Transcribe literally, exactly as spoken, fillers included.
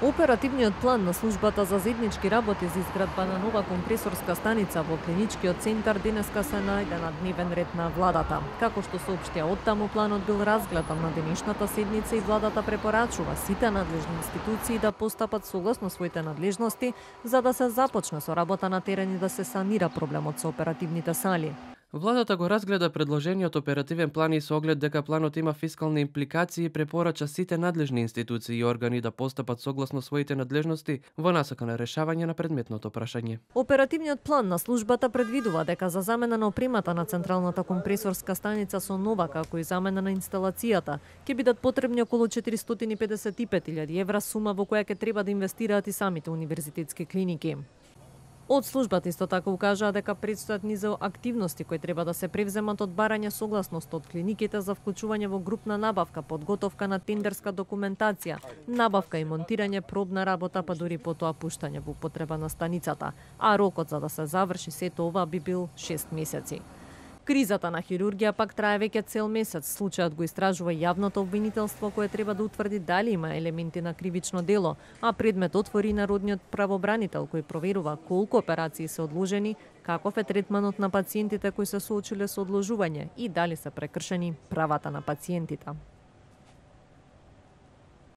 Оперативниот план на службата за заеднички работи за изградба на нова компресорска станица во клиничкиот центар денеска се најде на дневен ред на владата. Како што соопштија оттаму, планот бил разгледан на денешната седница и владата препорачува сите надлежни институции да постапат согласно своите надлежности за да се започне со работа на терен и да се санира проблемот со оперативните сали. Владата го разгледа предложениот оперативен план и со оглед дека планот има фискални импликации и препорача сите надлежни институции и органи да постапат согласно своите надлежности во насока на решавање на предметното прашање. Оперативниот план на службата предвидува дека за замена на опремата на централната компресорска станица со нова, како и замена на инсталацијата, ќе бидат потребни околу четиристотини и педесет и пет илјади евра, сума во која ќе треба да инвестираат и самите универзитетски клиники. Од службата исто така укажаа дека предстојат низ активности кои треба да се превземат од барање согласност од клиниките за вклучување во групна набавка, подготовка на тендерска документација, набавка и монтирање, пробна работа, па дури потоа пуштање во употреба на станицата, а рокот за да се заврши сето ова би бил шест месеци. Кризата на хирургија пак трае веќе цел месец. Случајот го истражува јавното обвинителство кое треба да утврди дали има елементи на кривично дело, а предмет отвори народниот правобранител кој проверува колку операции се одложени, каков е третманот на пациентите кои се соочиле со одложување и дали се прекршени правата на пациентите.